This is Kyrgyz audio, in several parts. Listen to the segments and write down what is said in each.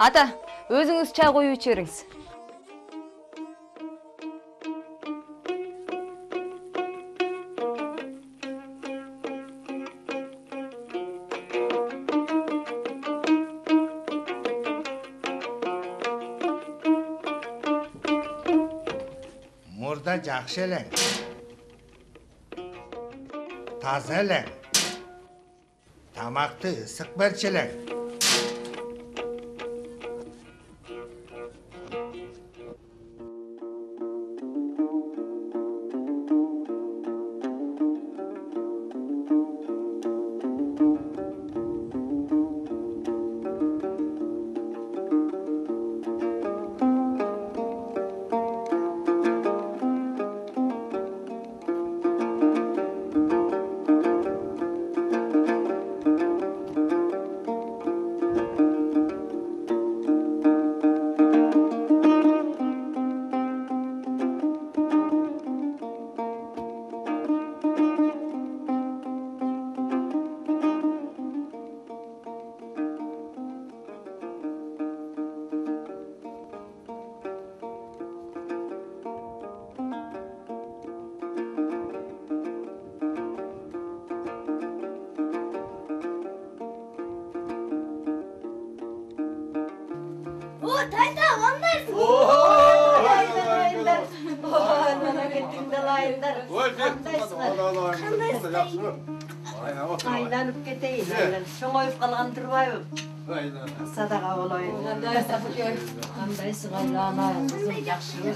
Ата, өзүңүз чай коюп ичериңиз. Murda жакшы элең. Таза элең. Тамакты ысык берчи элең. Tayta, qandayсың? Айланып кетейин, чоңоюп калган турбайбы? Садака болоюн. Кандайсың айлана, кызым, жакшыбы?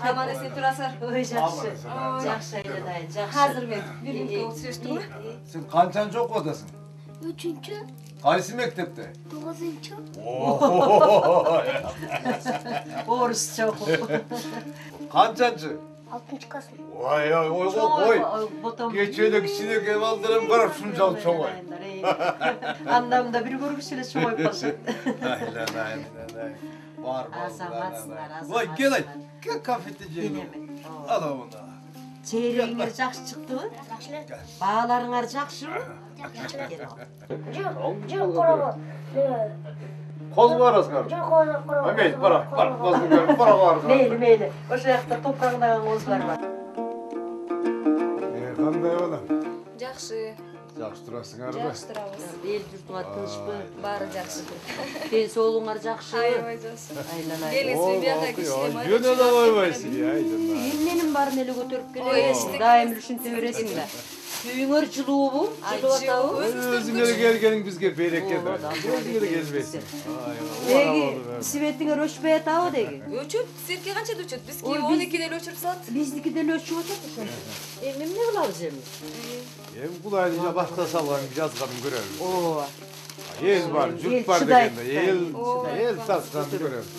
Аман эсен турасыздар. Ой, жакшы. Жакшы айланайын, жакшы. Азыр мен бир мүнөткө отуруштумбу? Сен канчанчы окуп атасың? 3-чү. Кайсы мектепте? 9-чу. Орусча окуп. Канчанчы? 6-чы класс. Ой, ой. Кече эле кичинекей балдарым карап ушунчалык чоңой. Андамда бир көргүч эле чоңоюп калды. Айланайын. Бар. Азаматсыңар, Ой, кел айт. Кел кафеде жейин. Ала мына. Чейрегиңер жакшы чыктыбы? Жакшы эле. Бааларыңар жакшыбы? Жок корабы. Коз барасыңар. Жок корабы. Мейли, бара, козду көрүп бара. Мейли. Ошол жакта топурагындагы козулар бар. Кандай бала? Жакшы. Жакшы турасыңарбы? Жакшы турабыз. Эл журтуңар тынчпы? Баары жакшы. Ден соолугуңар жакшыбы? Аябай жакшы. Айланайын. Келесиз биякка кичине май. Жөн эле койбойсуң, айланайын. Эмненин баарын эле көтөрүп Ой, келесиң? эчтеке Дайым эле ушинте бересиң да. Үйүңөр жылуубу? Жылып атабы? Өзүңөр келгениң бизге береке да. Өзүңөр келбейсиң. Деги светиңер өчпөй атабы деги? Өчөт, сизге канча өчөт? Бизки 12 деле өчүрүп салат. Биздики деле өчүп атат ошентип. Эми эмне кылабыз эми? Эми кудайдын башка салган жазганын көрөбүз. Ооба. Эл бар, журт бар дегенде эл сасканын көрөбүз.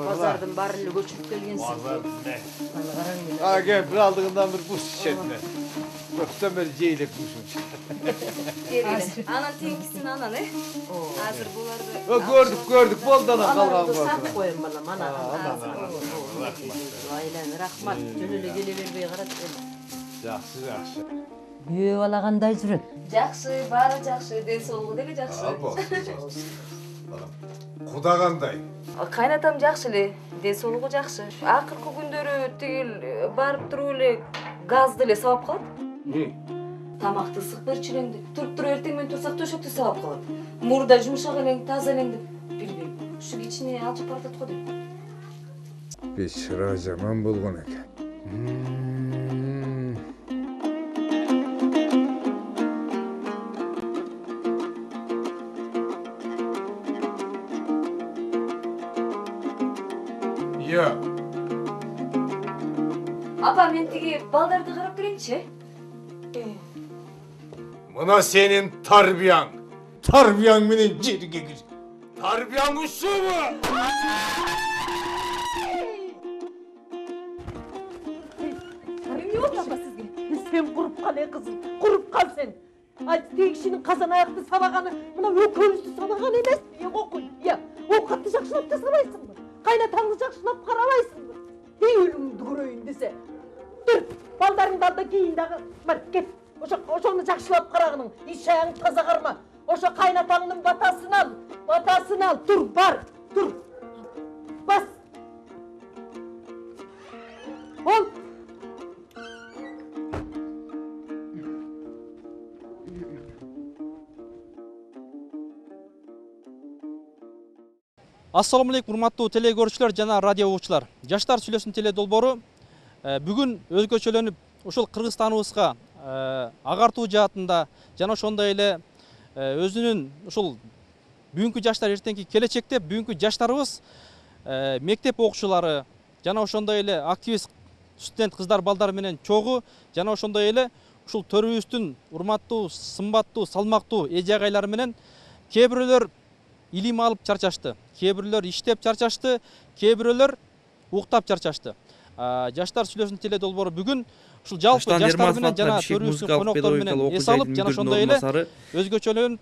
Базардын баарын эле көчүрүп келгенсиң. Кемпир алдыгындан бир буш ичетме. Көптөн бери жейлеп бушун. Анан теңкисин анан, Азыр буларды. Көрдүк, болду анан калган Анан болду. сатып коем балам, анан. Айлан, рахмат. Жөн эле келе бербей карат. Жакшы. Күйөө бала кандай жүрөт? Жакшы, баары жакшы, ден соолугу деле жакшы. Куда кандай? Кайнатам жакшы эле, ден соолугу жакшы. Акыркы күндөрү тигил барып туруп эле газды эле сабап калат. Тамакты ысык берчү элең деп. Туруп эртең менен турсак төшөктү сабап калат. Мурда жумшак элең, таза элең деп. Билбейм. Ушу кичине алчып баратат го деп. Бечара жаман болгон экен. Апа, мен тиги балдарды карап келейинчи. Мына сенин тарбияң. Тарбияң менен жерге кир. Тарбияң ушубу? Эмне болду апа сизге? Сен куруп кал кызым, куруп кал сен. Айт, тиги кишинин казан аякты сабаганы мына экөөбүздү сабаган эмеспи? Окуй. Оокатты жакшылап да сабайсыңбы? Кайнатаңды жакшылап карабайсыңбы? Өлүмдү көрөйүн десе. Тур, балдарыңды ал да кийин дагы. Бар, кет. Ошону жакшылап карагының. Иш аяң таза карма. Ошо кайнатаңдын батасын ал. Тур, бар, тур. Бас. Бол. Ассаламу алейкум, урматтуу теле көрүүчүлөр жана радио угуучулар. Жаштар сүйлөсүн теле долбоору бүгүн өзгөчөлөнүп ушул Кыргызстаныбызга агартуу жаатында жана ошондой эле өзүнүн ушул бүгүнкү жаштар эртеңки келечекте бүгүнкү жаштарыбыз мектеп окуучулары жана ошондой эле активист студент кыздар балдар менен чогуу жана ошондой эле ушул төрүбүздүн урматтуу, сымбаттуу, салмактуу эже агайлары менен кээ бирөөлөр илим алып чарчашты, кээ бирөөлөр иштеп чарчашты, кээ бирөөлөр уктап чарчашты. Жаштар сүйлөсүн теле долбоору бүгүн ушул жалпы жаштар менен жана төрүбүздүн коноктору менен эс алып жана ошондой эле өзгөчөлөнүп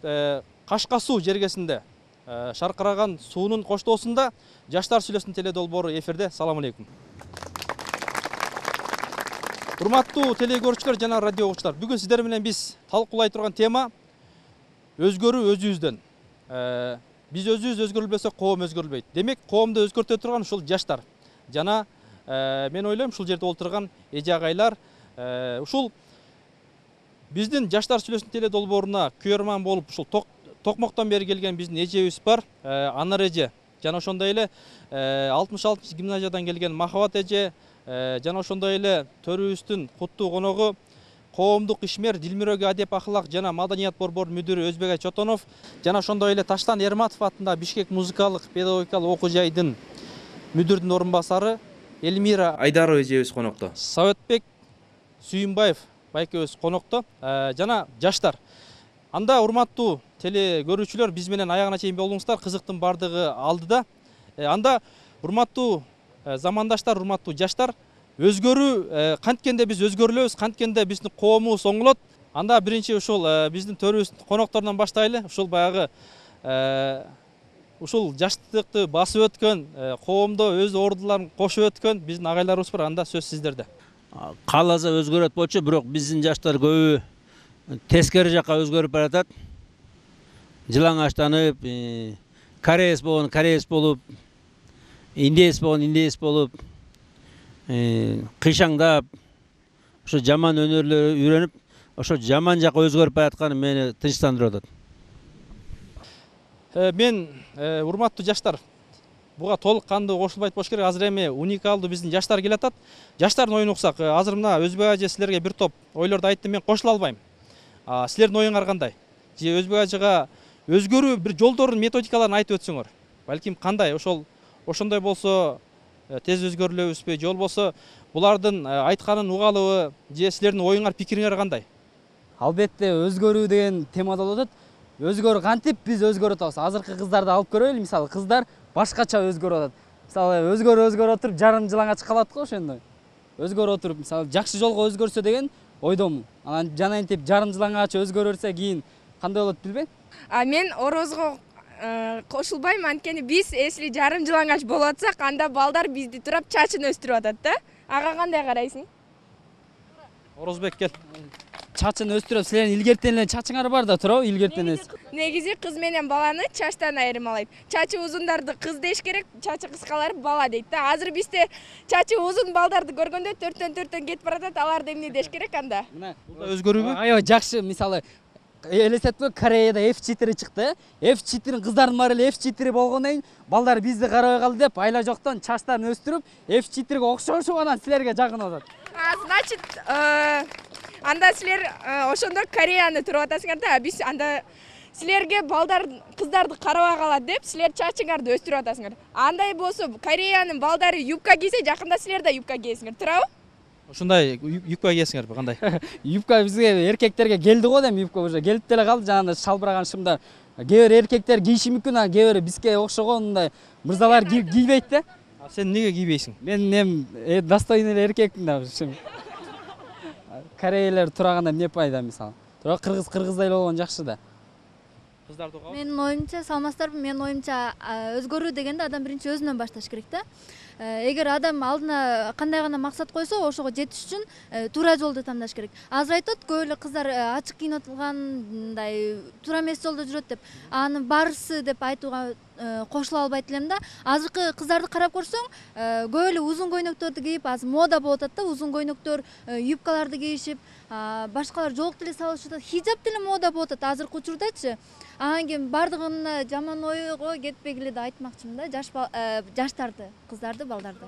Кашка суу жергесинде шаркыраган суунун коштоосунда жаштар сүйлөсүн теле долбоору эфирде. Салам алейкум. Урматтуу теле көрүүчүлөр жана радио угуучулар, бүгүн сиздер менен биз талкуулай турган тема өзгөрүү өзүбүздөн. Биз өзүбүз өзгөрүлбөсөк коом өзгөрүлбөйт. Демек, коомду өзгөртө турган ушул жаштар жана мен ойлойм ушул жерде олтурган эже агайлар ушул биздин жаштар сүйлөсүн теле долбооруна күйөрман болуп ушул токмоктон бери келген биздин эжебиз бар, Анар эже жана ошондой эле 66 гимназиядан келген Махабат эже жана ошондой эле төрүбүздүн куттуу коногу коомдук ишмер Дилмирөөгө адеп ахлак жана маданият борборунун мүдүрү Өзбек Чотонов жана ошондой эле Таштан Эрматов атында Бишкек музыкалык педагогикалык окуу жайдын мүдүрүнүн орун басары Эльмира Айдарова эжебиз конокто. Советбек Сүйүнбаев байкебиз конокто жана жаштар. Анда урматтуу теле көрүүчүлөр, биз менен аягына чейин болуңуздар, кызыктын бардыгы алдыда. Анда урматтуу замандаштар, урматтуу жаштар, өзгөрүү канткенде биз өзгөрүлөбүз, канткенде биздин коомубуз оңолот. Анда биринчи ушул биздин төрүбүздүн конокторунан баштайлы. Ушул баягы ушул жаштыкты басып өткөн, коомдо өз ордуларын кошуп өткөн биздин агайларыбыз бар. Анда сөз сиздерде. Кааласа өзгөрөт болчу, бирок биздин жаштар көбү тескери жакка өзгөрүп баратат. Жылаңачтанып, кореец болуп, индеец болуп, кыйшаңдап, ошо жаман өнөрлөр үйрөнүп, ошо жаман жакка өзгөрүп баратканы мени тынчтандырып атат. Мен урматтуу жаштар, буга толук кандуу кошулбайт болуш керек. Азыр эми уникалдуу биздин жаштар келатат. Жаштардын оюн уксак, азыр мына Өзбек ажы силерге бир топ ойлорду айтты, мен кошула албайм. Силердин оюңар кандай? Же Өзбек ажыга өзгөрүү бир жолдорун, методикаларын айтып өтсөңөр. Балким кандай, ошондой болсо тез өзгөрүлөбүзбү, же болбосо булардын айтканын угалыбы, же силердин оюңар, пикириңер кандай? Албетте өзгөрүү деген темада болот. Өзгөрүү кантип биз өзгөрүп атабыз. Азыркы кыздарды алып көрөлү, мисалы, кыздар башкача өзгөрүп атат. Мисалы, өзгөрүп отуруп жарым жылаңач калат го ошондой. Өзгөрүп отуруп, мисалы, жакшы жолго өзгөрсө деген ойдомун. Анан жана интип жарым жылаңач өзгөрөрсө кийин кандай болот билбейм. Мен орозго кошулбайм, анткени биз эсли жарым жылаңач болуп атсак, анда балдар бизди турап чачын өстүрүп атат да. Ага кандай карайсың? Орозбек кел. Чачын өстүрүп, силердин илгертен эле чачыңар бар да туурабы, илгертен эле. Негизи кыз менен баланы чачтан айырмалайт. Чачы узундарды кыз деш керек, чачы кыскалары бала дейт да. Азыр бизде чачы узун балдарды көргөндө төрттөн кетип баратат, аларды эмне деш керек анда? Бул өзгөрүүбү? Аябай жакшы, мисалы, элестетпе, Кореяда F4 чыкты. F4 кыздардын баары эле F4 болгондон кийин балдар бизди карабай калды деп айла жоктон чачтарын өстүрүп, F4ге окшошуп анан силерге жакын атат. Значит, анда силер ошондо Кореяны туруп атасыңар да, биз анда силерге балдар кыздарды карабай калат деп силер чачыңарды өстүрүп атасыңар. Андай болсо Кореянын балдары юбка кийсе, жакында силер да юбка кийесиңер, туурабы? Ошондой юбка кийесиңерби, кандай? Юбка бизге эркектерге келди го дейм, юбка уже келип деле калды, жанагындай шалбыраган шымдар. Кээ бир эркектер кийиши мүмкүн, а кээ бир бизге окшогон мындай мырзалар кийбейт да. Сен эмнеге кийбейсиң? Мен достойный эле эркекмин да. Кореялар тураганда эмне пайда, мисалы. Тура кыргыздай болгон жакшы да. Менин оюмча, саламатсыздарбы? Менин оюмча өзгөрүү дегенде адам биринчи өзүнөн башташ керек да. эгер адам алдына кандай гана максат койсо ошого жетиш үчүн туура жолду тандаш керек. Азыр айтат көп эле кыздар ачык кийинип туура эмес жолдо жүрөт деп. Анын барысы деп айтууга кошула албайт элем да. Азыркы кыздарды карап көрсөң, көп эле узун көйнөктөрдү кийип, азыр мода болуп атат да, узун көйнөктөр, юбкаларды кийишип, башкалар жоолук деле салышып атат. Хижап деле мода болуп атат азыркы учурдачы. Анан кийин бардыгына жаман ойго кетпегиле деп айтмакчымын да, жаштарды, кыздарды, балдарды.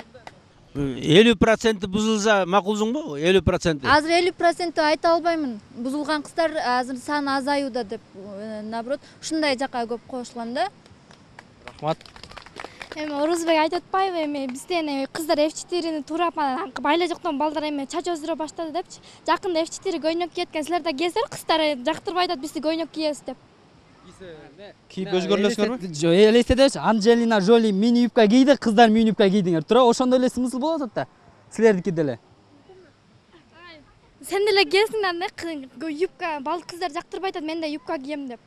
50% бузулса макулсуңбу? 50%. Азыр 50% айта албаймын. Бузулган кыздар азыр саны азаюуда деп, наоборот, ушундай жакка көп кошулам да. Рахмат. Орузбек айтып атпайбы, бизден кыздар F4-ни туурап байла жоктон балдар чач өздүрө баштады депчи. Жакында F4 көйнөк кийеткен, силер да кийесиздер, кыздар жактырбай атат, бизди көйнөк кийесиз деп. Кийип өзгөрүлөсүңөрбү? Жок, элестетебичи, Анджелина Жоли мини юбка кийди, кыздар мини юбка кийдиңер. Туура, ошондой эле смысл болот атат да. Силердики деле. Сен деле кийесиң да, юбка, кыздар жактырбай атат, мен да юбка кием деп.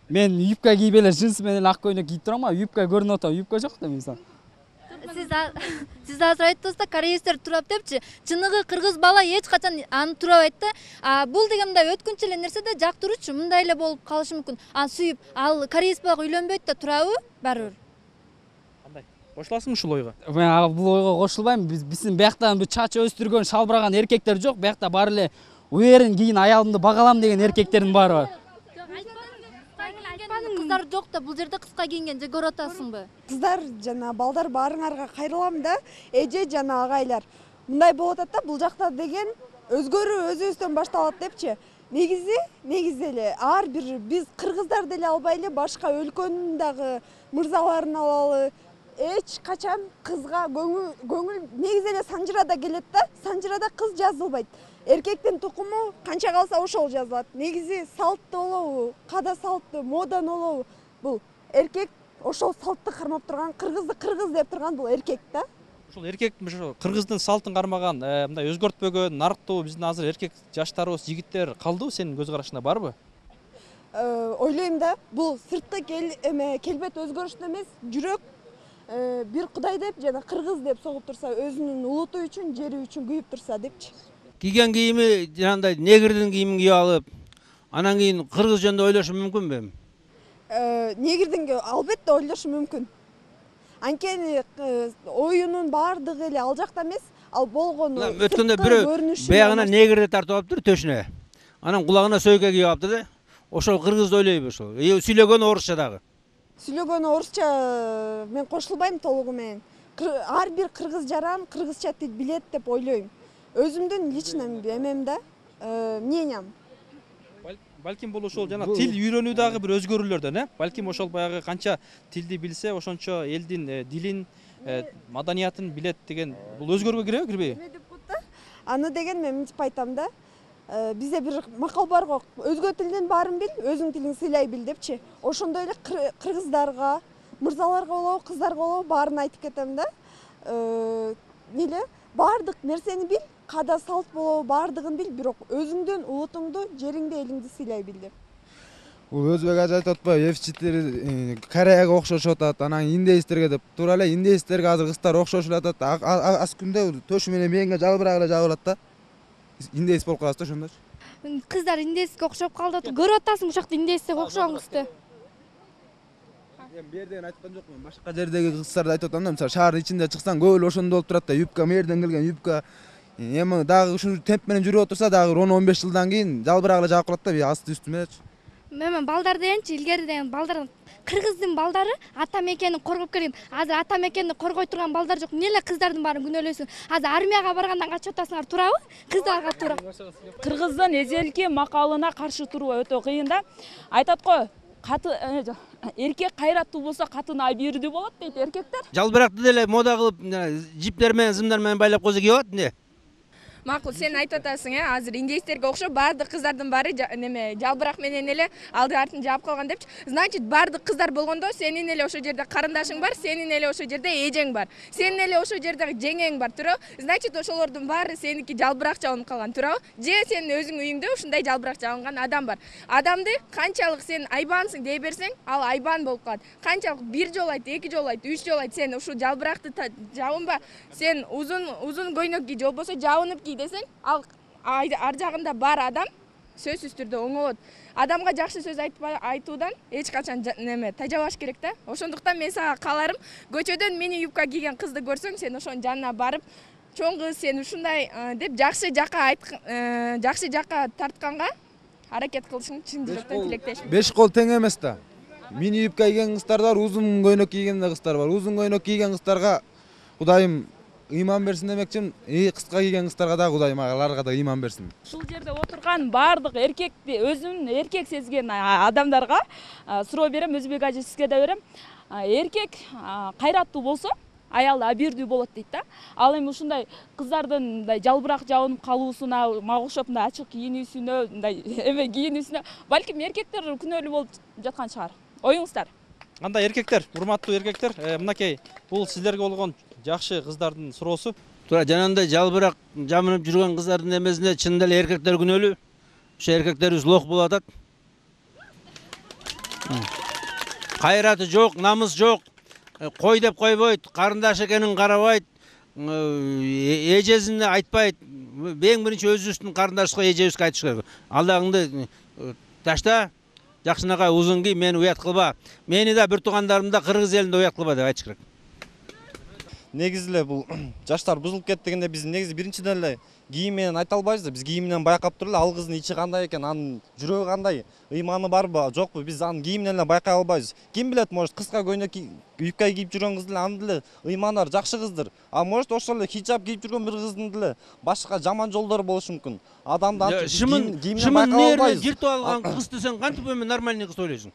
Мен юбка кийип эле джинс менен ак көйнөк кийип турам, юбка көрүнүп атат, юбка жок да мисалы. Сиз азыр айттыңыз да, кореецтер турап депчи. Чыныгы кыргыз бала эч качан аны турабайт да. Бул деген мындай өткүнчү эле нерсе да, жактыруучу мындай эле болуп калышы мүмкүн. Сүйүп, ал кореец бала үйлөнбөйт да, турабы? Баары бир. Кандай? Кошуласың ушул ойго? Мен бул ойго кошулбайм. Биздин бияктан бул чач өстүргөн, шалбыраган эркектер жок. Биякта баары эле уерин кийин аялымды багалам деген эркектердин баары бар. Кыздар жок да, бул жерде кыска кийинген же көрүп атасыңбы? Кыздар жана балдар баарыңарга кайрылам да, эже жана агайлар. Мындай болуп атат да, бул жакта деген өзгөрүү өзүбүздөн башталат депчи. Негизи эле ар бир биз кыргыздар деле албай эле башка өлкөнүн дагы мырзаларын алалы. Эч качан кызга көңүл негизи эле Санжырада келет да, Санжырада кыз жазылбайт. Эркектин тукуму канча калса ошол жазылат. Негизи салттуу болобу, када салттуу, модан болобу, бул эркек ошол салтты кармап турган, кыргызды кыргыз деп турган бул эркек да. Ошол эркек кыргыздын салтын кармаган, мындай өзгөртпөгөн, нарыктуу биздин азыр эркек жаштарыбыз, жигиттер калдыбы, сенин көз карашыңда барбы? Ойлойм да, бул сыртты келбет өзгөрүштү эмес, жүрөк бир Кудай деп жана кыргыз деп согуп турса, өзүнүн улуту үчүн, жери үчүн күйүп турса депчи. Кийген кийими жанагындай негрдин кийимин кийип алып, анан кийин кыргыз жөнүндө ойлошу мүмкүнбү? Негрдин албетте ойлошу мүмкүн. Анткени оюнун баардыгы эле ал жакта эмес, ал болгону. Өткөндө бирөө баягына негрди тартып алыптыр төшүнө. Анан кулагына сөйкө кийип алыптыр да. Ошол кыргызды ойлойбу ошол. Сүйлөгөнү орусча дагы. Сүйлөгөнү орусча мен кошулбайм толугу менен. Ар бир кыргыз жаран кыргызча тил билет деп ойлойм. Өзүмдүн личный эмем да, мнениям. Балким бул ошол жана тил үйрөнүү дагы бир өзгөрүүлөрдөн, Балким ошол баягы канча тилди билсе, ошончо элдин дилин, маданиятын билет деген бул өзгөрүүгө киреби, кирбейби? Аны деген мен мынтип айтам да. Бизде бир макал бар го, өзгө тилдин баарын бил, өзүң тилиң сыйлай бил депчи. Ошондой эле кыргыздарга, мырзаларга болобу, кыздарга болобу баарын айтып кетем да. Баардык нерсени бил, када салт болобу баардыгын бил, бирок өзүңдүн улутуңду, жериңди, элиңди сыйлай бил деп. Бул Өзбек ажы айтып атпайбы, F4 Кореяга окшошуп атат, анан индеистерге деп. Туура эле индеистерге азыр кыздар окшошуп атат. Аз күндө төшү менен мээңге жалбырак эле жабылат да. Индеис болуп каласыз да ошондочу. Кыздар индеиске окшоп калды. Көрүп атасың ушакта индеиске окшогон кызды. Мен бу жерден айткан жокмун. Башка жердеги кыздарды айтып атам да, мисалы шаардын ичинде чыксаң көп эле ошондой болуп турат да, юбка мерден келген юбка. Эми дагы ушул темп менен жүрүп отурса дагы 10-15 жылдан кийин жалбырак эле жаап калат да, асты үстү мененчи. Мен балдар дегенчи, илгери деген балдар кыргыздын балдары ата мекенин коргоп келген. Азыр ата мекенди коргой турган балдар жок. Эмне эле кыздардын баарын күнөөлөйсүң? Азыр армияга баргандан качып атасыңар, туурабы? Кыздарга туура. Кыргыздын эзелки макалына каршы туруу өтө кыйын да. Айтат го, эркек кайраттуу болсо катын абийирдүү болот дейт эркектер. Жалбыракты деле мода кылып, жиптер менен, зымдар менен байлап койсо кийип алат эмне? макул сен айтып атасың, азыр индейстерге окшоп баардык кыздардын баары неме жалбырак менен эле алды артын жаап калган депчи. Значит, баардык кыздар болгондо сенин эле ошол жерде карындашың бар, сенин эле ошол жерде эжең бар. Сенин эле ошол жерде жеңең бар, туурабы? Значит, ошолордун баары сеники жалбырак жабылып калган, туурабы? Же сенин өзүң үйүңдө ушундай жалбырак жабылган адам бар. Адамды канчалык сен айбансың дей берсең, ал айбан болуп калат. Канчалык 1 жолу айт, 2 жолу айт, 3 жолу айт, сен ушул жалбыракты жабынба. Сен узун көйнөк ки, же болбосо жабынып ки десең, ал ар жагында бар адам сөзсүз түрдө оңолот. Адамга жакшы сөз айтуудан эч качан неме тажабаш керек да. Ошондуктан мен сага кааларым, көчөдөн мини юбка кийген кызды көрсөң, сен ошонун жанына барып, чоң кыз сен ушундай деп жакшы жакка тартканга аракет кылышың чын жүрөктөн тилектешмин. 5 кол тең эмес да. Мини юбка кийген кыздар бар, узун көйнөк кийген кыздар бар. Узун көйнөк кийген кыздарга Кудайым ыйман берсин демекчимин. Кыска кийген кыздарга да Кудайым аларга да ыйман берсин. Ушул жерде отурган баардык эркекти өзүн эркек сезген адамдарга суроо берем, Өзбек ажы сизге да берем. Эркек кайраттуу болсо, аял абийирдүү болот дейт да. Ал эми ушундай кыздардын мындай жалбырак жабынып калуусуна, мага окшоп мындай ачык кийинүүсүнө, мындай эме кийинүүсүнө балким эркектер күнөөлүү болуп жаткан чыгар. Оюңуздар. Андай эркектер, урматтуу эркектер, мынакей бул сиздерге болгон жакшы кыздардын суроосу. Туура жанагындай жалбырак жабынып жүргөн кыздардын эмесине чындап эле эркектер күнөөлүү. Ошо эркектерибиз лох болуп атат. Кайраты жок, намыс жок. Кой деп койбойт, карындаш экенин карабайт, эжесине айтпайт. Эң биринчи өзүбүздүн карындашыбызга, эжебизге айтыш керек. Алдагыңды ташта, жакшынакай узун кий, мени уят кылба. Мени да бир туугандарымды кыргыз элинде уят кылба деп айтыш керек. Негизи эле бул жаштар бузулуп кетти дегенде биз негизи биринчиден эле кийим менен айта албайбыз да. Биз кийим менен байкап туруп эле ал кыздын ичи кандай экен, анын жүрөгү кандай, ыйманы барбы, жокпу, биз анын кийим менен эле байкай албайбыз. Ким билет, может кыска көйнөк юбка кийип жүргөн кыз деле анын деле ыйманы бар, жакшы кыздыр. А может ошол эле хиджаб кийип жүргөн бир кыздын деле башка жаман жолдору болушу мүмкүн. Адамды антип кийим менен байкай албайбыз. Жыртып алган кызды сен кантип эми нормальный кыз ойлойсуң?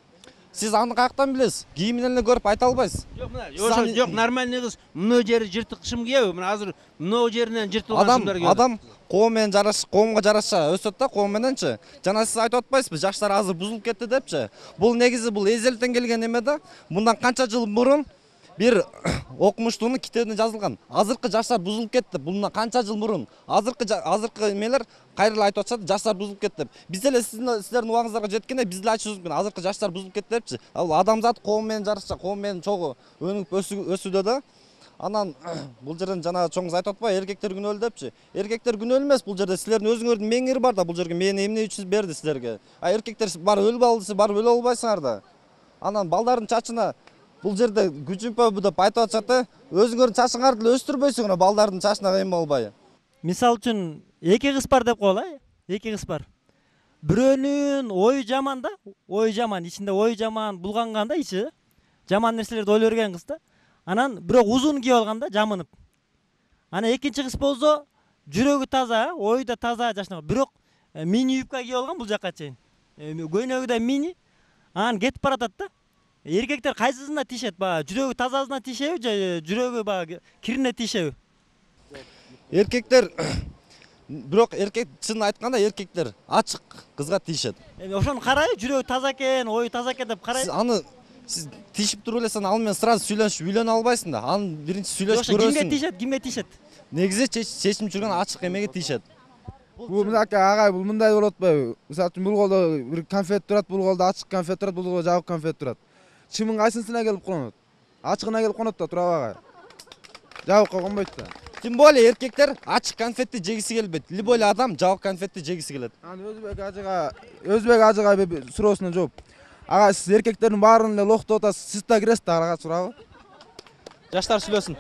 Сиз аны каяктан билесиз? Кийим менен эле көрүп айта албайсыз. Жок, нормальный кыз мына жери жыртык кышым кийеби? Мына азыр мына жеринен жыртылган кыздар кийет. Адам коом менен коомго жараша өсөт да, коом мененчи. Жана сиз айтып атпайсызбы, жаштар азыр бузулуп кетти депчи. Бул негизи бул эзелтен келген эме да. Мындан канча жыл мурун бир окумуштуунун китебинде жазылган. Азыркы жаштар бузулуп кетти. Бундан канча жыл мурун азыркы эмелер кайрылып айтып атышат, жаштар бузулуп кетти деп. Биз эле сиздердин убагыңыздарга жеткенде биз деле айтышыбыз мүмкүн. Азыркы жаштар бузулуп кетти депчи. Ал адамзат коом менен жараша, коом менен чогуу өнүгүп өсүүдө да. Анан бул жерден жана чоңуз айтып атпайбы, эркектер күнөөлүү депчи. Эркектер күнөөлүү эмес бул жерде. Силердин өзүңөрдүн мээңири бар да бул жерге. Мени эмне үчүн берди силерге? А эркектер бар өлүп алды, барып өлө албайсыңар да. Анан балдардын чачына бул жерде күчүмпөбү деп айтып атышат да. Өзүңөрдүн чачыңарды деле өстүрбөйсүңөр балдардын чачына эме болбой. Мисалы үчүн эки кыз бар деп коелу, эки кыз бар. Бирөөнүн ою жаман да, ою жаман, ичинде ою жаман булганган да, ичи жаман нерселерди ойлой берген кыз да. Анан бирок узун кийип алган да, жамынып. Анан экинчи кыз болсо жүрөгү таза, ою да таза жашнаган, бирок мини юбка кийип алган бул жакка чейин. Көйнөгү да мини. Анан кетип баратат да. Эркектер кайсысына тиешет? Баягы жүрөгү тазасына тиешеби же жүрөгү баягы кирине тиешеби? Эркектер бирок эркек чынын айтканда эркектер ачык кызга тиешет. Ошону карай, жүрөгү таза экен, ою таза экен деп карай. Сиз тишип туруп эле сен ал менен сразу сүйлөнүп үйлөнө албайсың да. Анын биринчи сүйлөшүп көрөсүң. Кимге тиешет? Негизи чечим жүргөн ачык эмеге тиешет. Бул мынакей агай, бул мындай болуп атпайбы? Мисалы үчүн бул колдо бир конфет турат, бул колдо ачык конфет турат, бул колдо жабык конфет турат. Чымын кайсысына келип конот? Ачыгына келип конот да, турабы агай? Жабыкка конбойт да. Тем более эркектер ачык конфетти жегиси келбейт. Любой эле адам жабык конфетти жегиси келет. Анан Өзбек ажыга суроосуна жооп. Ага, сиз эркектердин баарын эле лох деп атасыз. Сиз да киресиз да ага сурабы? Жаштар сүйлөсүн.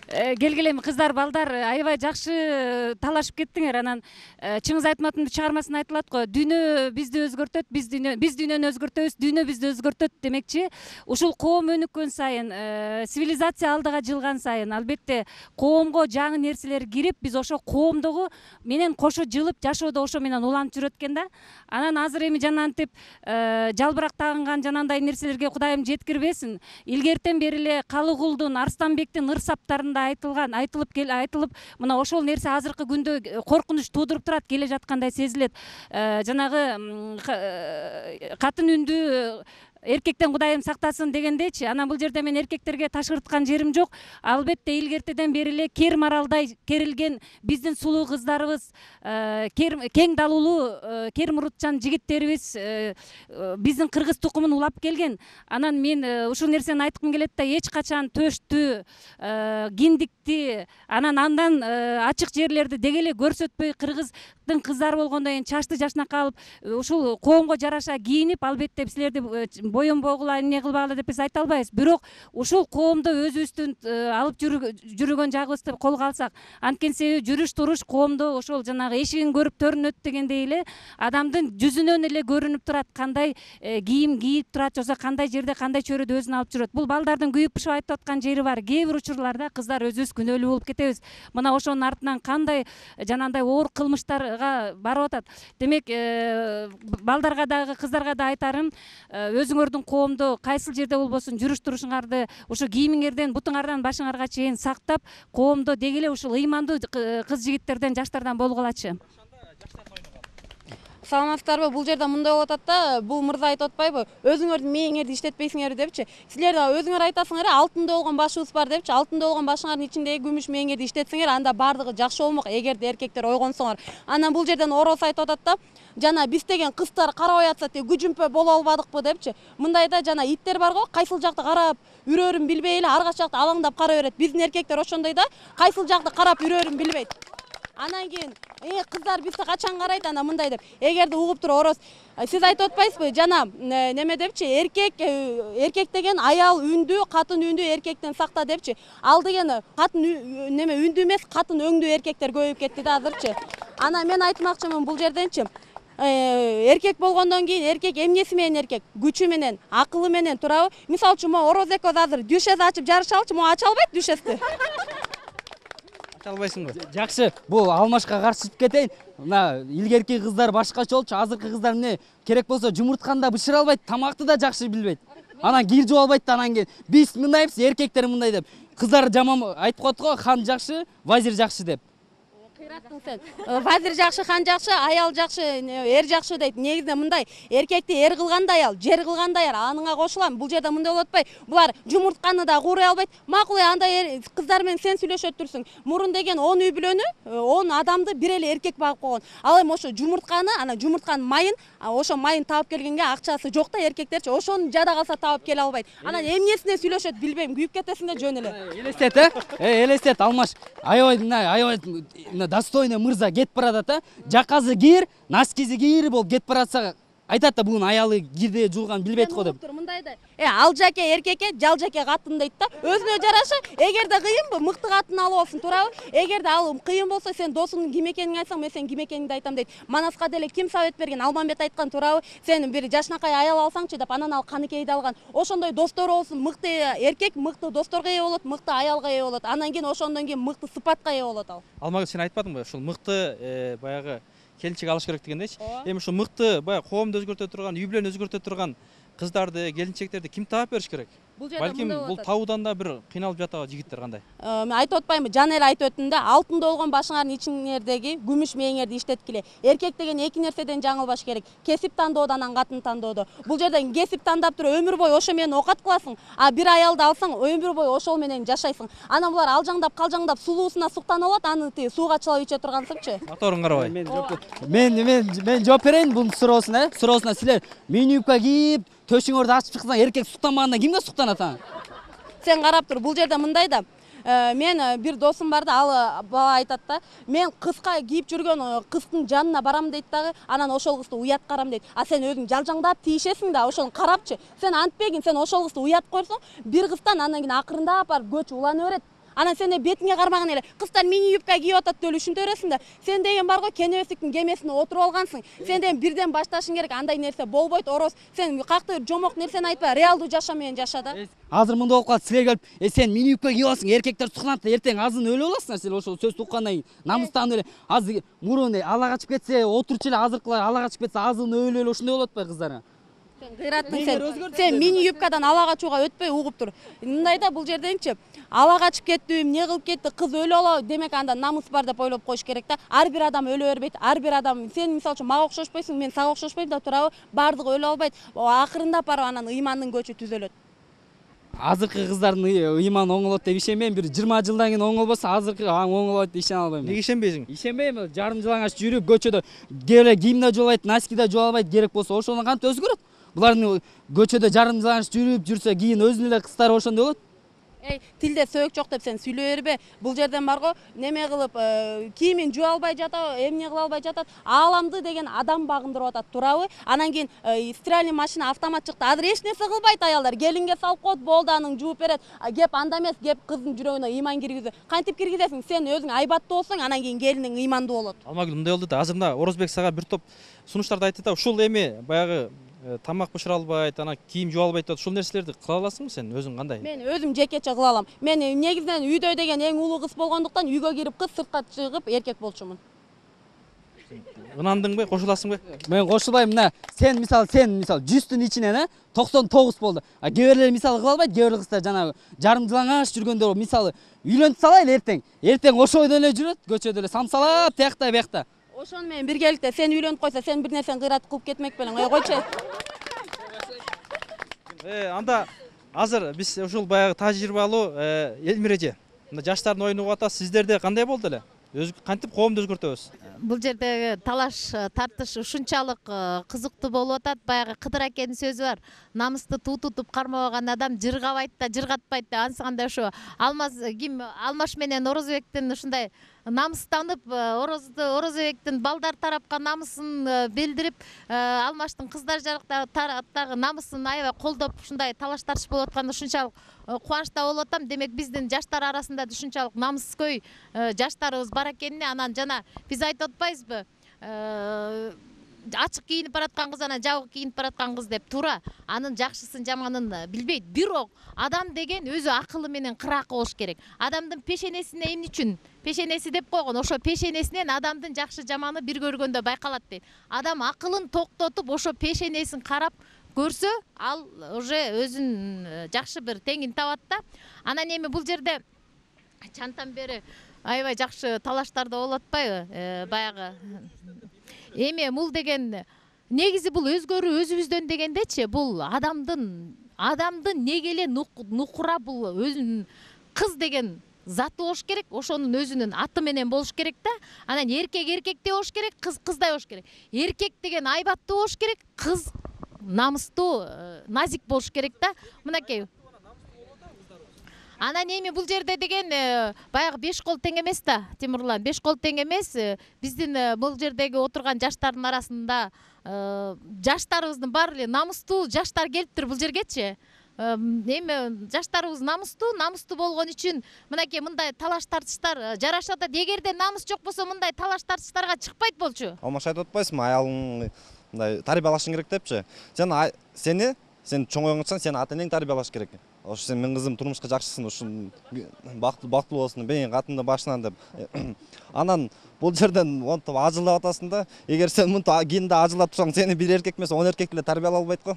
Келгиле эми кыздар, балдар аябай жакшы талашып кеттиңер. Анан чыңыз айтматымдын чыгармасында айтылат го, дүйнө бизди өзгөртөт, биз дүйнөнү өзгөртөбүз, дүйнө бизди өзгөртөт демекчи. Ушул коом өнүккөн сайын, цивилизация алдыга жылган сайын, албетте коомго жаңы нерселер кирип, биз ошо коомдогу менен кошо жылып жашоодо ошо менен уланып жүрөт экен да. Анан азыр эми жанантип жалбырак тагынган жанандай нерселерге Кудайым жеткирбесин. Илгертен бери эле Калыгулдун, Арстанбектин ыр саптарында учурунда айтылып мына ошол нерсе азыркы күндө коркунуч туудуруп турат, келе жаткандай сезилет. Жанагы катын үндүү эркектен Кудайым сактасын дегендечи, анан бул жерде мен эркектерге ташкырткан жерим жок. Албетте илгертеден бери эле кер маралдай керилген биздин сулуу кыздарыбыз, кең далуулуу кер мурутчан жигиттерибиз биздин кыргыз тукумун улап келген. Анан мен ушул нерсени айткым келет да, эч качан төштү, киндикти, андан ачык жерлерди деги эле көрсөтпөй, кыргыздын кыздары болгондон кийин чачты жашнакка алып, ушул коомго жараша кийинип, албетте силерди боюнбогула эмне кылбагыла деп биз айта албайбыз. Бирок ушул коомдо өзүбүздүн алып жүргөн жагыбызды колго алсак, анткени себеби жүрүш туруш коомдо ошол жанагы эшигин көрүп төрүнөт дегендей эле адамдын жүзүнөн эле көрүнүп турат, кандай кийим кийип турат, жоксо кандай жерде кандай чөйрөдө өзүн алып жүрөт. Бул балдардын күйүп бышып айтып аткан жери бар. Кээ бир учурларда кыздар өзүбүз күнөөлүү болуп кетебиз. Мына ошонун артынан кандай жанагындай оор кылмыштарга барып атат. Демек, балдарга дагы кыздарга да айтарым, өзүңөрдүн коомдо кайсыл жерде болбосун жүрүш турушуңарды, ушу кийимиңерден бутуңардан башыңарга чейин сактап, коомдо деги эле ушул ыймандуу кыз жигиттерден, жаштардан болгулачы. Саламатсыздарбы? Бул жерде мындай болуп атат да, бул мырза айтып атпайбы? Өзүңөрдүн мээңерди иштетпейсиңер депчи. Силер да өзүңөр айтасыңар, алтында болгон башыбыз бар депчи. Алтында болгон башыңардын ичиндеги күмүш мээңерди иштетсеңер, анда бардыгы жакшы болмок, эгерде эркектер ойгонсоңор. Анан бул жерден ороз айтып атат да, жана биз деген кыздар карабай атса, күжүмпө боло албадыкпы депчи. Мындай да жана иттер бар го, кайсыл жакты карап үрөрүн билбей эле арга жакты алаңдап кара берет. Биздин эркектер ошондой да, кайсыл жакты карап үрөрүн билбейт. Анан кийин кыздар бизди качан карайт, анан мындай деп. Эгерде угуп туруп ороз, сиз айтып атпайсызбы? Жана неме депчи, эркек деген аял үндүү, катын үндүү эркектен сакта депчи. Ал деген катын неме үндүү эмес, катын өңдүү эркектер көбөйүп кетти да азырчы. Анан мен айтмакчымын бул жерденчи, эркек болгондон кийин эркек эмнеси менен эркек? Күчү менен, акылы менен турабы? Мисалы үчүн, мо ороз экөөбүз азыр дүшес ачып жарышалычы, мо ача албайт дүшести. Албайсыңбы? Жакшы, бул алмашка каршы чыгып кетейин. Мына илгерки кыздар башкача болчу, азыркы кыздар эмне керек болсо жумуртканда бышыра албайт, тамакты да жакшы билбейт. Анан кир жуа албайт да, анан кийин биз мындайбыз, эркектер мындай деп. Кыздар жаман айтып коет го, хан жакшы, вазир жакшы деп. Кыйраттың сен. Вазир жакшы, хан жакшы, аял жакшы, эр жакшы дейт. Негизинде мындай, эркекти эр кылгандай аял, жер кылгандай эр, аныңа кошулам. Бул жерде мындай болуп атпайбы? Булар жумуртканы да куурай албайт. Макул, андай кыздар менен сен сүйлөшөт турсуң. Мурун деген 10 үй бүлөнү, 10 адамды бир эле эркек багып койгон. Ал эми ошо жумуртканы, анан жумуртканын майын, ошо майын таап келгенге акчасы жок да эркектерчи, ошону жада калса таап келе албайт. Анан эмнесине сүйлөшөт билбейм, күйүп кетесиң да жөн эле. Элестет, элестет, Алмаш. Аябай достойный мырза кетип баратат, жаказы кир, носкизи кийирип болуп кетип баратса, айтат да бугун аялы кирде жууган билбейт го деп. Мындай да, ал жаке эркекке, жал жаке катын дейт да. Өзүнө жараша, эгерде кыйынбы, мыкты катын алып алсын, туурабы? Эгерде ал кыйын болсо, сен досуңдун ким экенин айтсаң, мен сенин ким экениңди айтам дейт. Манаска деле ким совет берген? Алмамбет айткан, туурабы? Сен бир жашнакай аял алсаңчы деп, анан ал каныкейди алган. Ошондой достор болсун, мыкты эркек мыкты досторго ээ болот, мыкты аялга ээ болот. Анан кийин ошондон кийин мыкты сыпатка ээ болот ал. Алмагүл, сен айтпадыңбы? Ушул мыкты баягы келинчек алыш керек дегендейчи. Эми ушу мыкты баягы коомду өзгөртө турган, үй бүлөнү өзгөртө турган кыздарды, келинчектерди ким таап бериш керек? Балким бул табуудан да бир кыйналып жатабы жигиттер кандай? Айтып атпаймынбы? Жана эле айтып өттүм да, алтында болгон башыңардын ичиңердеги күмүш мээңерди иштеткиле. Эркек деген эки нерседен жаңылбаш керек. Кесип тандоодо, анан катын тандоодо. Бул жерден кесип тандап туруп өмүр бою ошо менен окат кыласың, а бир аялды алсаң, өмүр бою ошол менен жашайсың. Анан булар алжаңдап, калжаңдап сулуусуна суктанып алат, аны сууга чылап иче тургансыңчы. Моторун карабай. Мен жооп берейин бунун суроосуна. Суроосуна силер мини юбка кийип, төшүңөрдү ачып чыксаң, эркек суктанбаганда кимге суктанат анан? Сен карап тур, бул жерде мындай да. Мен бир досум бар да, ал бала айтат да, мен кызга кийип жүргөн кыздын жанына барам дейт дагы, анан ошол кызды уят карам дейт. А сен өзүң жалжаңдап тийишесиң да, ошону карапчы. Сен антпегин, сен ошол кызды уят койсоң, бир кыздан анан кийин акырындап барып көч улана берет. Анан сен бетиңе кармаган эле, кыздар мини юбка кийип атат деп ушинте бересиң да. Сен деген бар го, кенебестиктин кемесине отуруп алгансың. Сен деген бирден башташың керек, андай нерсе болбойт, ороз. Сен кактыр жомок нерсени айтпа, реалдуу жаша менен жаша да. Азыр мындай болуп калат, силер келип, сен мини юбка кийип аласың, эркектер суктанат, эртең азын өлүп аласыңар силер ошол сөз уккандан кийин. Намыстан эле азыр мурун ала качып кетсе, отурчу эле азыркылар ала качып кетсе, азын өлүп эле ошондой болот атпайбы кыздар? Кыйраттың сен мини юбкадан ала качууга өтпөй угуп тур. Мындай да бул жерденчи ала качып кетти, эмне кылып кетти, кыз өлүп алабы, демек анда намыс бар деп ойлоп коюш керек да. Ар бир адам өлө бербейт. Ар бир адам сен мисалы үчүн мага окшошпойсуң, мен сага окшошпойм да турабы? Бардыгы өлүп албайт. Акырындап барып анан ыймандын көчү түзөлөт. Азыркы кыздардын ыйманы оңолот деп ишенбейм. Бир 20 жылдан кийин оңолбосо азыркы оңолот деп ишене албайм. Неге ишенбейсиң? Ишенбейм. Жарым жылаңач жүрүп көчөдө келе кийимде жуа албайт, носкиде жуа албайт, керек болсо ошону кантип өзгөрөт? Булардын көчөдө жарым жылаңач жүрүп жүрсө кийин өзүнүн эле кыздары ошондой болот. Тилде сөйөк жок деп сен сүйлөй бербе. Бул жерден барго неме кылып кийимин жуа албай жатат, эмне кыла албай жатат. Ааламды деген адам багындырып атат, турабы? Анан кийин стиральный машина, автомат чыкты. Азыр эч нерсе кылбайт аялдар. Келинге салып коет, болду, анын жууп берет. Кеп анда эмес, кеп кыздын жүрөгүнө ыйман киргизүү. Кантип киргизесиң? Сен өзүң айбаттуу болсоң, анан кийин келиниң ыймандуу болот. Алмагүл, мындай болду да. Азыр мына Орозбек сага бир топ сунуштарды айтты да. Ушул эми баягы тамак бышыра албайт, ана кийим жуа албайт деп ушул нерселерди кыла аласыңбы сен өзүң кандай? Мен өзүм жекече кыла алам. Мен негизинен үйдө деген эң улуу кыз болгондуктан үйгө кирип кыз, сыртка чыгып эркек болчумун. Ынандыңбы, кошуласыңбы? Мен кошулбайм. Мына сен мисалы 100түн ичинен 99 болду. А кээ бирлер мисалы кыла албайт, кээ бир кыздар жанагы жарым жылаңаш жүргөндөр мисалы үйлөнүп салайлы эртең. Эртең ошо бойдон эле жүрөт, көчөдө эле самсалап, тиякта биякта. Ошону менен биргеликте сен үйлөнүп койсо, сен бир нерсени кыйратып кылып кетмек белең. Койчу. Анда азыр биз ушул баягы тажрыйбалуу Элмир эже, мына жаштардын оюну угуп атасыз. Сиздерде кандай болду эле? Кантип коомду өзгөртөбүз? Бул жердеги талаш тартыш ушунчалык кызыктуу болуп атат. Баягы Кыдыр акенин сөзү бар. Намысты туу тутуп кармабаган адам жыргабайт да, жыргатпайт да. Ансыганда ошо Алмаш менен Орозбектин ушундай намыстанып, Орозбектин балдар тарапка намысын билдирип, Алмаштын кыздар жактагы намысын аябай колдоп, ушундай талаш тартыш болуп атканда ушунчалык кубанычта болуп атам. Демек биздин жаштар арасында ушунчалык намыскөй жаштарыбыз бар экенине, анан жана биз айтып атпайбызбы? Ачык кийинип бараткан кыз анан жабык кийинип бараткан кыз деп туура. Анын жакшысын жаманын билбейт. Бирок адам деген өзү акылы менен кыракы болуш керек. Адамдын пешенесине эмне үчүн пешенеси деп койгон? Ошо пешенесинен адамдын жакшы жаманы бир көргөндө байкалат дейт. Адам акылын токтотуп, ошо пешенесин карап көрсө, ал уже өзүн жакшы бир теңин табат да. Анан эми бул жерде чантан бери аябай жакшы талаштар да болуп атпайбы? Баягы эми бул деген негизи бул өзгөрүү өзүбүздөн дегендечи, бул адамдын неге эле нукура бул өзүнүн кыз деген заты болуш керек, ошонун өзүнүн аты менен болуш керек да. Анан эркек эркектей болуш керек, кыз кыздай болуш керек. Эркек деген айбаттуу болуш керек, кыз намыстуу, назик болуш керек да. Мынакей. Анан эми бул жерде деген баягы 5 кол тең эмес да, Тимурлан. 5 кол тең эмес. Биздин бул жердеги отурган жаштардын арасында жаштарыбыздын баары эле намыстуу жаштар келиптир бул жергечи. Эми жаштарыбыз намыстуу болгон үчүн мынакей мындай талаш тартыштар жарашат. Эгерде намыс жок болсо мындай талаш тартыштарга чыкпайт болчу. Алмаш айтып атпайсыңбы, аялың мындай тарбиялашың керек депчи. Сен чоң оңотсаң, сен ата энең тарбиялаш керек. Ошо сен мен кызым турмушка жакшысын, ушун бактылуу болсун, бейин катында башынан деп. Анан бул жерден монтип ажылдап атасың да. Эгер сен мынтип кийинде ажылдап турсаң, сени бир эркек эмес, 10 эркек эле тарбиялай албайт го.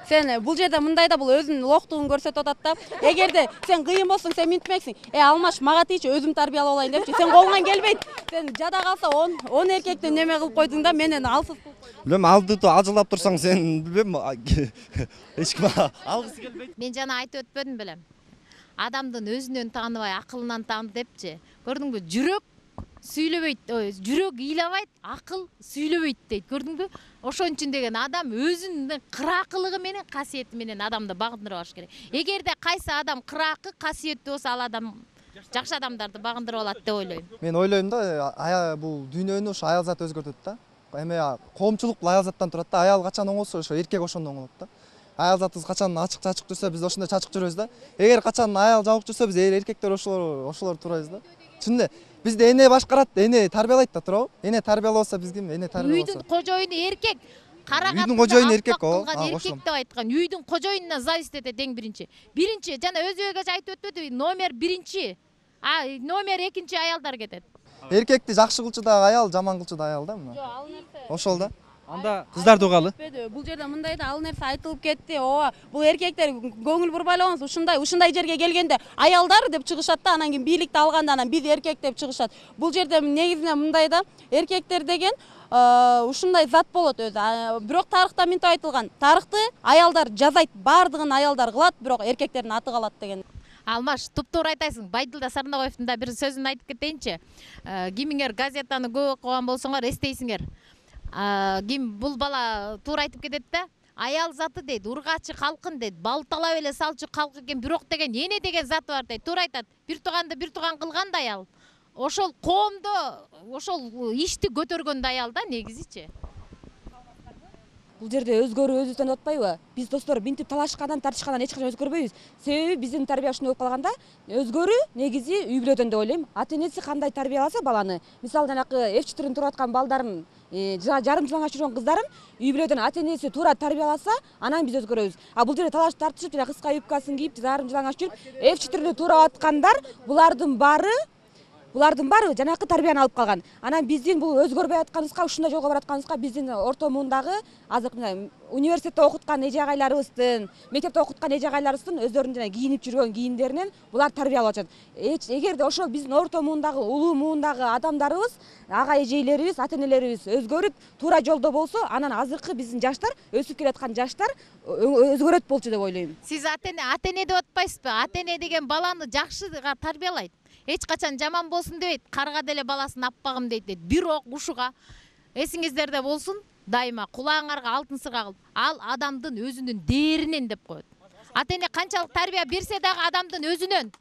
Сен бул жерде мындай да бул өзүнүн локтугун көрсөтүп атат да. Эгерде сен кыйын болсоң, сен минтмексиң. Алмаш мага тийчи, өзүм тарбиялап алайын депчи. Сен колуңан келбейт. Сен жада калса 10 эркекти неме кылып койдуң да, менен алсыз. Билем, алдыда ажылдап турсаң, сен билем, эч ким алгысы келбейт. Мен жана айтып өтпөдүм белем. Адамдын өзүнөн тааныбай, акылынан тааны депчи. Көрдүңбү? Жүрөк сүйлөбөйт, жүрөк ыйлабайт, акыл сүйлөбөйт дейт. Көрдүңбү? Ошон үчүн деген адам өзүнүн кыракылыгы менен, касиети менен адамды багындырып алыш керек. Эгерде кайсы адам кыракы, касиеттүү болсо, ал адам жакшы адамдарды багындырып алат деп ойлойм. Мен ойлойм да, бул дүйнөнү ошо аял заты өзгөртөт да. Эми коомчулук бул аял заттан турат да. Аял качан оңолсо, ошо эркек ошондо оңолот да. Аял затыбыз качан ачык-чачык жүрсө, биз ошондой чачык жүрөбүз да. Эгер качан аял жабык жүрсө, биз эркектер ошолор турабыз да. Чын эле бизди эне башкарат, эне тарбиялайт да, туурабы? Эне тарбиялабаса биз ким? Эне тарбиялабаса. Үйдүн кожоюну эркек. Үйдүн кожоюну эркек го. Эркек деп айткан. Үйдүн кожоюнуна зависть этет эң биринчи. Биринчи жана Өзбек эже айтып өтпөдүбү? Номер биринчи. Номер экинчи аялдар кетет. Эркекти жакшы кылчу да аял, жаман кылчу да аял да мына. Ошол да. Анда кыздарды угалы. Бул жерде мындай да ал нерсе айтылып кетти. Ооба, бул эркектер көңүл бурбайлабаңыз. Ушундай жерге келгенде аялдар деп чыгышат да, анан кийин бийликти алганда анан биз эркек деп чыгышат. Бул жерде негизинен мындай да, эркектер деген ушундай зат болот өзү. Бирок тарыхта мынтип айтылган. Тарыхты аялдар жазайт, бардыгын аялдар кылат, бирок эркектердин аты калат деген. Алмаш, туп-туура айтасың. Байдылда Сарнабаевдин да бир сөзүн айтып кетейинчи. Кимиңер газетаны көп окуган болсоңор эстейсиңер. Ким бул бала туура айтып кетет да. Аял заты дейт, ургачы калкын дейт, балталап эле салчу калк экен, бирок деген эне деген заты бар дейт. Туура айтат. Бир тууганды бир тууган кылган да аял. Ошол коомдо ошол ишти көтөргөн да аял да негизичи. Бул жерде өзгөрүү өзүбүздөн атпайбы? Биз достор минтип талашкандан, тартышкандан эч качан өзгөрбөйбүз. Себеби биздин тарбия ушундай болуп калганда, өзгөрүү негизи үй бүлөдөн деп ойлойм. Ата-энеси кандай тарбияласа баланы, мисалы жанакы F4-н туруп аткан балдарын, жарым жылаңач жүргөн кыздарын үй бүлөдөн ата-энеси туура тарбияласа, анан биз өзгөрөбүз. А бул жерде талаш тартышып, жана кыска юбкасын кийип, жарым жылаңач жүрүп, F4-ны туурап аткандар, булардын баары жанакы тарбияны алып калган. Анан биздин бул өзгөрбөй атканыбызга, ушундай жолго баратканыбызга биздин орто муундагы азыркы университетте окуткан эже агайларыбыздын, мектепте окуткан эже агайларыбыздын өздөрүнүн жана кийинип жүргөн кийимдеринен булар тарбиялап атышат. Эгерде ошол биздин орто муундагы, улуу муундагы адамдарыбыз, ага эжейлерибиз, ата-энелерибиз өзгөрүп туура жолдо болсо, анан азыркы биздин жаштар, өсүп келаткан жаштар өзгөрөт болчу деп ойлойм. Сиз ата-эне деп атпайсызбы? Ата-эне деген баланы жакшы тарбиялайт. Эч качан жаман болсун дебейт, карга деле баласын аппагым дейт. Бирок ушуга эсиңиздерде болсун, дайыма кулаңарга алтын сырга кылып, ал адамдын өзүнүн дээринен деп коет. Ата-эне канчалык тарбия берсе дагы адамдын өзүнөн.